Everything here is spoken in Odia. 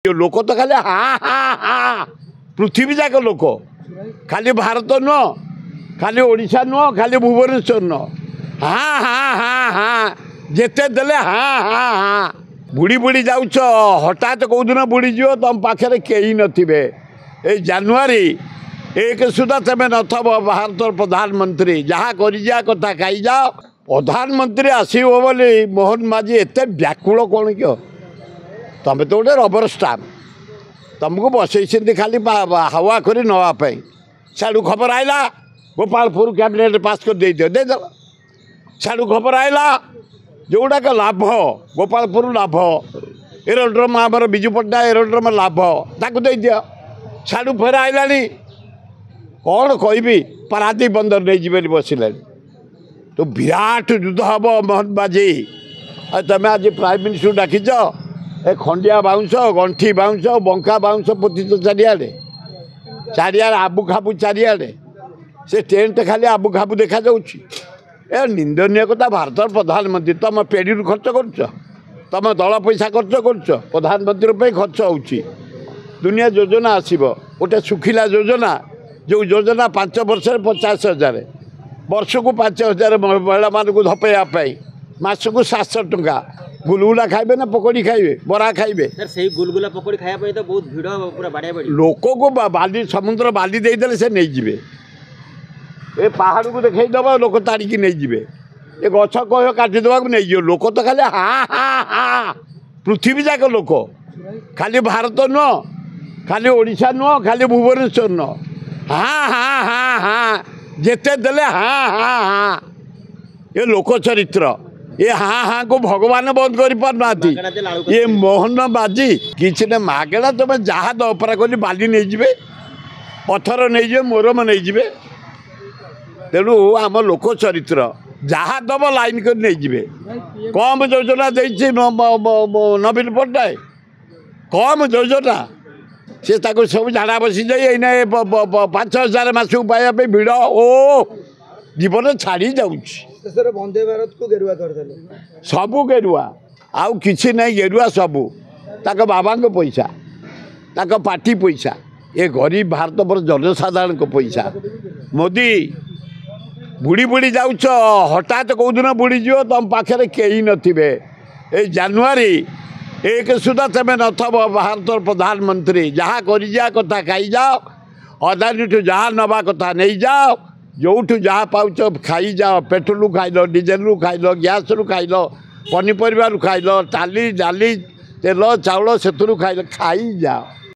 ଲୋକ ତ ଖାଲି ହା ହା ହା, ପୃଥିବୀ ଯାକ ଲୋକ, ଖାଲି ଭାରତ ନୁହଁ, ଖାଲି ଓଡ଼ିଶା ନୁହଁ, ଖାଲି ଭୁବନେଶ୍ୱର ନୁହଁ, ହା ହା ହା ହା, ଯେତେ ଦେଲେ ହା ହା ହା। ବୁଡ଼ି ବୁଡ଼ି ଯାଉଛ, ହଠାତ୍ କେଉଁଦିନ ବୁଡ଼ିଯିବ, ତୁମ ପାଖରେ କେହି ନଥିବେ। ଏଇ ଜାନୁଆରୀ 1 ସୁଦ୍ଧା ତୁମେ ନଥବ ଭାରତର ପ୍ରଧାନମନ୍ତ୍ରୀ। ଯାହା କରିଯିବା କଥା ଖାଇଯାଅ। ପ୍ରଧାନମନ୍ତ୍ରୀ ଆସିବ ବୋଲି ମୋହନ ମାଝୀ ଏତେ ବ୍ୟାକୁଳ କ'ଣ କିଅ? ତମେ ତ ଗୋଟେ ରବର ଷ୍ଟାମ୍ପ, ତୁମକୁ ବସେଇଛନ୍ତି ଖାଲି ହାୱା କରି ନେବା ପାଇଁ। ସିଆଡ଼ୁ ଖବର ଆଇଲା ଗୋପାଳପୁର କ୍ୟାବିନେଟ୍ ପାସ୍ କରି ଦେଇଦିଅ, ଦେଇଦେଲ। ସିଆଡ଼ୁ ଖବର ଆଇଲା ଯେଉଁଗୁଡ଼ାକ ଲାଭ, ଗୋପାଳପୁର ଲାଭ, ଏରୋଡ୍ରମ୍ ଆମର ବିଜୁ ପଟ୍ଟନାୟକ ଏରୋଡ୍ରମ୍ ଲାଭ, ତାକୁ ଦେଇଦିଅ। ସିଆଡ଼ୁ ଫେର ଆଇଲାଣି କ'ଣ କହିବି, ପାରାଦୀପ ବନ୍ଦର ନେଇଯିବେ ବୋଲି ବସିଲାଣି। ତ ବିରାଟ ଯୁଦ୍ଧ ହେବ ମୋହନ ମାଝୀ। ଆଉ ତୁମେ ଆଜି ପ୍ରାଇମ୍ ମିନିଷ୍ଟରକୁ ଡାକିଛ, ଏ ଖଣ୍ଡିଆ ବାଉଁଶ, ଗଣ୍ଠି ବାଉଁଶ, ବଙ୍କା ବାଉଁଶ ପୋତିଛ ଚାରିଆଡ଼େ, ଚାରିଆଡ଼େ ଆବୁ ଖାବୁ ଚାରିଆଡ଼େ, ସେ ଟେଣ୍ଟ ଖାଲି ଆବୁ ଖାବୁ ଦେଖାଯାଉଛି। ଏ ନିନ୍ଦନୀୟ କଥା। ଭାରତର ପ୍ରଧାନମନ୍ତ୍ରୀ, ତୁମ ପେଡ଼ିରୁ ଖର୍ଚ୍ଚ କରୁଛ, ତୁମ ଦଳ ପଇସା ଖର୍ଚ୍ଚ କରୁଛ, ପ୍ରଧାନମନ୍ତ୍ରୀ ପାଇଁ ଖର୍ଚ୍ଚ ହେଉଛି। ଦୁନିଆ ଯୋଜନା ଆସିବ, ଗୋଟେ ଶୁଖିଲା ଯୋଜନା, ଯେଉଁ ଯୋଜନା 5 ବର୍ଷରେ 50,000, ବର୍ଷକୁ 5,000 ମହିଳାମାନଙ୍କୁ ଧପେଇବା ପାଇଁ, ମାସକୁ 700 ଟଙ୍କା। ଗୁଲଗୁଲା ଖାଇବେ ନା ପକୋଡ଼ି ଖାଇବେ, ବରା ଖାଇବେ? ସେଇ ଗୁଲଗୁଲା ପକୋଡ଼ି ଖାଇବା ପାଇଁ ତ ବହୁତ ଭିଡ଼, ପୁରା ବାଡ଼ିଆ ବାଡ଼ି। ଲୋକକୁ ବାଲି, ସମୁଦ୍ର ବାଲି ଦେଇଦେଲେ ସେ ନେଇଯିବେ। ଏ ପାହାଡ଼କୁ ଦେଖେଇଦେବ, ଲୋକ ତାଡ଼ିକି ନେଇଯିବେ। ଏ ଗଛ କହିବ କାଟିଦେବାକୁ, ନେଇଯିବ। ଲୋକ ତ ଖାଲି ହା ହା ହା, ପୃଥିବୀ ଯାକ ଲୋକ, ଖାଲି ଭାରତ ନୁହଁ, ଖାଲି ଓଡ଼ିଶା ନୁହଁ, ଖାଲି ଭୁବନେଶ୍ୱର ନୁହଁ, ହା ହା ହା ହା, ଯେତେ ଦେଲେ ହା ହା ହା। ଏ ଲୋକ ଚରିତ୍ର, ଏ ହା ହାକୁ ଭଗବାନ ବନ୍ଦ କରିପାରୁନାହାନ୍ତି। ଇଏ ମୋହନ ବାଜି କିଛି ନା ମାଗଣା। ତୁମେ ଯାହା ଦବ ପରା କହିଲି, ବାଲି ନେଇଯିବେ, ପଥର ନେଇଯିବେ, ମୋରମ ନେଇଯିବେ। ତେଣୁ ଆମ ଲୋକ ଚରିତ୍ର, ଯାହା ଦବ ଲାଇନ୍ କରି ନେଇଯିବେ। କମ୍ ଯୋଜନା ଦେଇଛି ନବୀନ ପଟ୍ଟନାୟକ? କମ୍ ଯୋଜନା? ସେ ତାକୁ ସବୁ ଝାଡ଼ା ବସିଯାଇ ଏଇନା 5,000 ମାସକୁ ପାଇବା ପାଇଁ ଭିଡ଼ ଓ ଜୀବନ ଛାଡ଼ି ଯାଉଛି। ଶେଷରେ ବନ୍ଦେ ଭାରତକୁ ଗେରୁଆ କରିଦେଲେ, ସବୁ ଗେରୁଆ, ଆଉ କିଛି ନାହିଁ, ଗେରୁଆ ସବୁ। ତାଙ୍କ ବାବାଙ୍କ ପଇସା, ତାଙ୍କ ପାର୍ଟି ପଇସା, ଏ ଗରିବ ଭାରତବର୍ଷ ଜନସାଧାରଣଙ୍କ ପଇସା। ମୋଦି, ବୁଡ଼ି ବୁଡ଼ି ଯାଉଛ, ହଠାତ୍ କେଉଁଦିନ ବୁଡ଼ିଯିବ, ତୁମ ପାଖରେ କେହି ନଥିବେ। ଏଇ ଜାନୁଆରୀ 1 ସୁଦ୍ଧା ତୁମେ ନଥବ ଭାରତର ପ୍ରଧାନମନ୍ତ୍ରୀ। ଯାହା କରିଯିବା କଥା ଖାଇଯାଅ, ଅଦାନୀଠୁ ଯାହା ନେବା କଥା ନେଇଯାଅ, ଯେଉଁଠୁ ଯାହା ପାଉଛ ଖାଇଯାଅ। ପେଟ୍ରୋଲରୁ ଖାଇଲ, ଡିଜେଲରୁ ଖାଇଲ, ଗ୍ୟାସ୍ରୁ ଖାଇଲ, ପନିପରିବାରୁ ଖାଇଲ, ଡାଲି ତେଲ ଚାଉଳ ସେଥିରୁ ଖାଇଲ, ଖାଇଯାଅ।